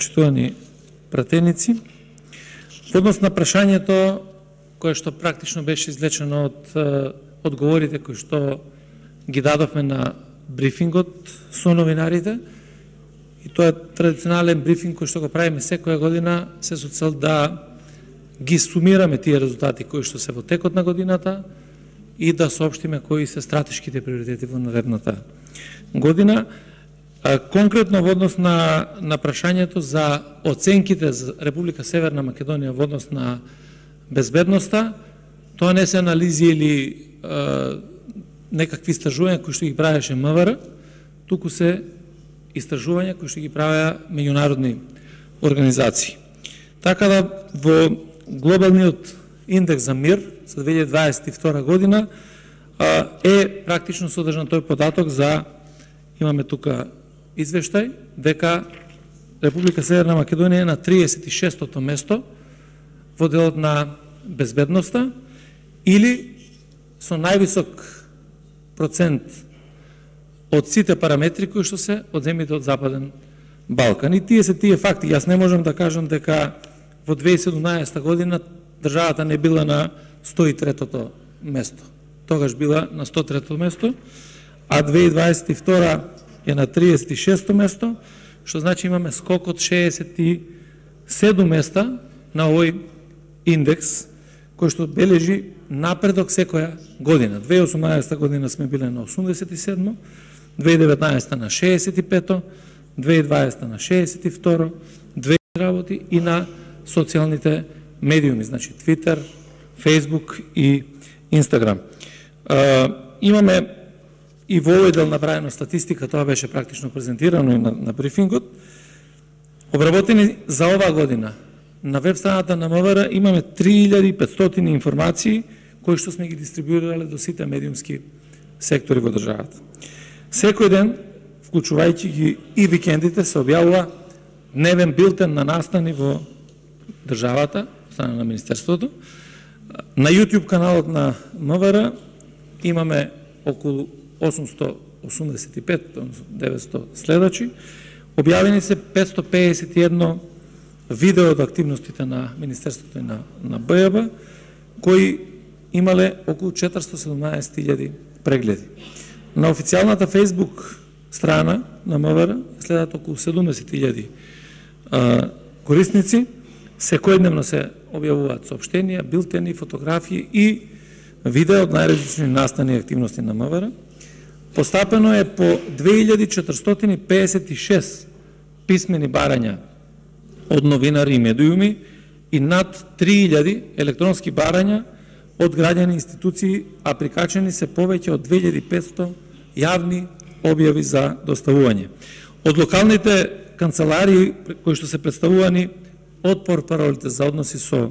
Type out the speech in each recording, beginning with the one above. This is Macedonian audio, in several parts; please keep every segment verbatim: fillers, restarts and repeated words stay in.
почитувани пратеници, во однос на прашањето кое што практично беше извлечено од одговорите кои што ги дадовме на брифингот со новинарите, и тоа е традиционален брифинг кој што го правиме секоја година, се со цел да ги сумираме тие резултати кои што се во текот на годината и да соопштиме кои се стратешките приоритети во наредната година. Конкретно во однос на, на прашањето за оценките за Република Северна Македонија во однос на безбедноста, тоа не се анализи или е, некакви истражувања кои што ги правеше МВР, туку се истражувања кои што ги правеа меѓународни организации. Така да во глобалниот индекс за мир за две илјади дваесет и втора година е практично содржан тој податок за, имаме тука извештај, дека Република Северна Македонија е на триесет и шестото место во делот на безбедноста или со највисок процент од сите параметри кои што се од земјите од Западен Балкан. И тие се тие факти. Јас не можам да кажам дека во две илјади и седумнаесета година државата не била на сто и третото место. Тогаш била на сто и третото место, а две илјади дваесет и втора е на триесет и шесто место, што значи имаме скок од шеесет и седум места на овој индекс, кој што бележи напредок секоја година. две илјади и осумнаесета година сме биле на осумдесет и седмо, две илјади и деветнаесета на шеесет и пето, две илјади и дваесета на шеесет и второ, две работи и на социјалните медиуми, значи Твитер, Фейсбук и Инстаграм. Имаме и во овој дел направено статистика, тоа беше практично презентирано и на, на брифингот. Обработени за оваа година на веб страната на МВР имаме три илјади и петстотини информации кои што сме ги дистрибуирале до сите медиумски сектори во државата. Секој ден, вклучувајќи ги и викендите, се објавува дневен билтен на настани во државата, страна на Министерството. На YouTube каналот на МВР имаме околу осумсто осумдесет и пет, деветсто следачи. Објавени се петсто пеесет и едно видео од активностите на Министерството и на, на БЈБ, кои имале околу четиристо и седумнаесет илјади прегледи. На официјалната Facebook страна на МВР следат околу седумдесет илјади корисници. Секојдневно се објавуваат соопштенија, билтени, фотографии и видео од најразлични настани и активности на МВР. Постапено е по две илјади четиристотини пеесет и шест писмени барања од новинари и медиуми и над три илјади електронски барања од граѓани институции, а прикачени се повеќе од две илјади и петсто јавни објави за доставување. Од локалните канцеларии кои што се представувани од портпаролите за односи со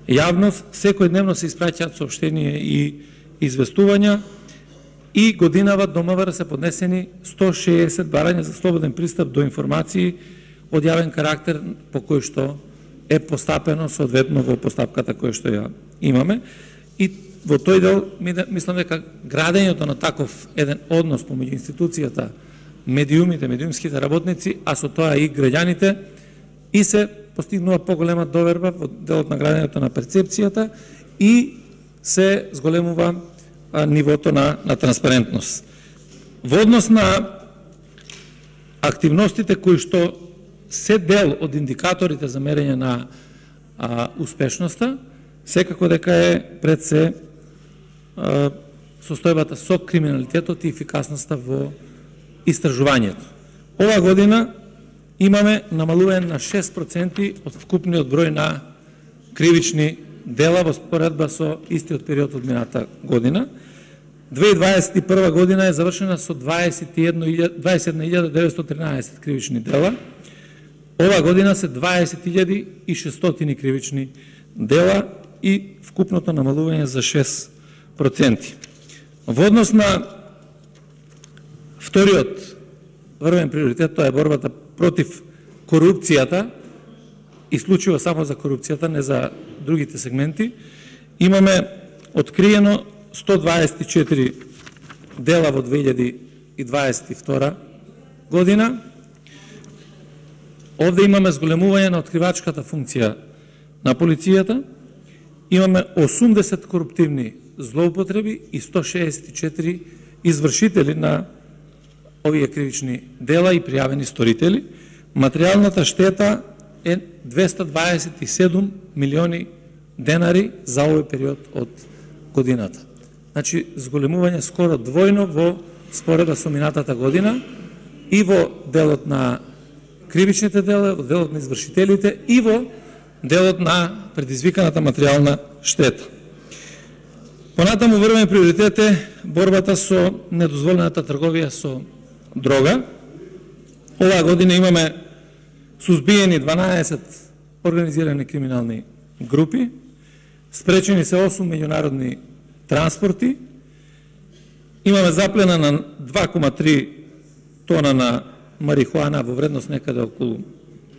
јавност, секој дневно се испраќаат соопштенија и известувања и годинава до МВР се поднесени сто и шеесет барања за слободен пристап до информации од јавен карактер по кој што е постапено соодветно во постапката која што ја имаме. И во тој дел мислам дека градењето на таков еден однос помеѓу институцијата, медиумите, медиумските работници, а со тоа и граѓаните, и се постигнува поголема доверба во делот на градењето на перцепцијата и се зголемува а, нивото на, на транспарентност. Во однос на активностите кои што се дел од индикаторите за мерење на а, успешноста, секако дека е пред се а, состојбата со криминалитетот и ефикасноста во истражувањето. Ова година имаме намалување на шест проценти од вкупниот број на кривични дела во споредба со истиот период од мината година. две илјади дваесет и прва година е завршена со дваесет и една илјада деветстотини и тринаесет кривични дела. Ова година се дваесет илјади и шестстотини кривични дела и вкупното намалување за шест проценти. Во однос на вториот врвен приоритет, тоа е борбата против корупцијата, и случува само за корупцијата, не за другите сегменти. Имаме откриено сто дваесет и четири дела во две илјади и дваесет и втора година. Овде имаме зголемување на откривачката функција на полицијата, имаме осумдесет коруптивни злоупотреби и сто шеесет и четири извршители на овие кривични дела и пријавени сторители. Материјалната штета е двесте дваесет и седум милиони денари за овој период од годината. Значи, зголемување скоро двојно во споредба со минатата година и во делот на кривичните дела, во делот на извршителите и во делот на предизвиканата материјална штета. Понатаму врвен приоритет е борбата со недозволената трговија со дрога. Оваа година имаме сузбиени дванаесет организирани криминални групи, спречени се осум меѓународни транспорти, имаме заплена на два кома три тона на марихуана во вредност некаде околу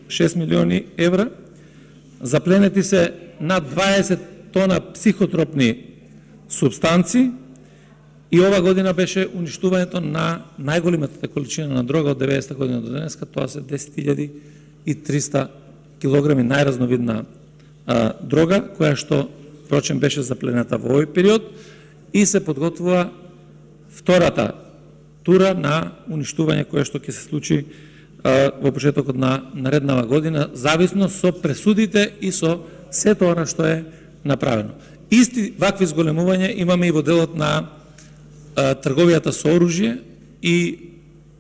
шест милиони евра, запленети се над дваесет тона психотропни субстанци и ова година беше уништувањето на најголемата количина на дрога од деветдесета година до денеска, тоа се десет илјади и триста килограми најразновидна а, дрога, која што впрочем беше заплената во овој период и се подготвува втората тура на уништување кое што ќе се случи а, во почетокот на нареднава година, зависно со пресудите и со сето она што е направено. Исти вакви зголемување имаме и во делот на а, трговијата со оружје и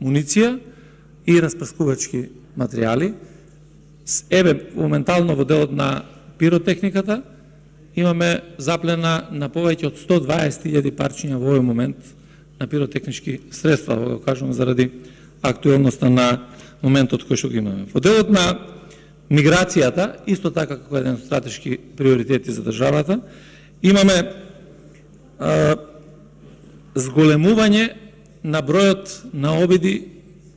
муниција и распрскувачки материјали. Еве, моментално во делот на пиротехниката имаме заплена на повеќе од сто дваесет илјади парчиња во овој момент на пиротехнички средства, го кажувам заради актуелноста на моментот кој што го имаме. Во делот на миграцијата, исто така како еден од стратешки приоритети за државата, имаме а, зголемување на бројот на обиди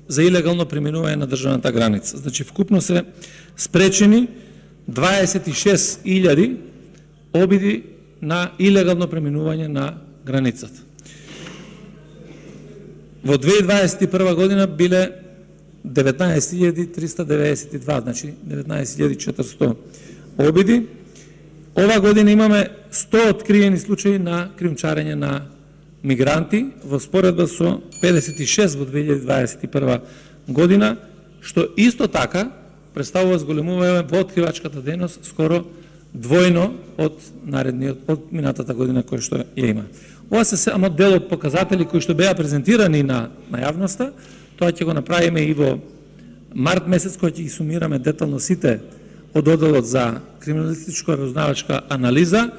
за илегално преминување на државната граница. Значи, вкупно се спречени дваесет и шест илјади обиди на илегално преминување на границата. Во две илјади дваесет и прва година биле деветнаесет илјади триста деветдесет и два, значи деветнаесет илјади четиристотини обиди. Ова година имаме сто откриени случаи на кримчарење на мигранти во споредба со педесет и шест во две илјади дваесет и прва година, што исто така представува зголемување во откривачката дејност скоро двојно од наредниот, од минатата година која што ја има. Ова се само дел од показатели кои што беа презентирани на, на јавноста. Тоа ќе го направиме и во март месец, кој ќе ги сумираме детално сите од одделот за криминалистичко разузнавачка анализа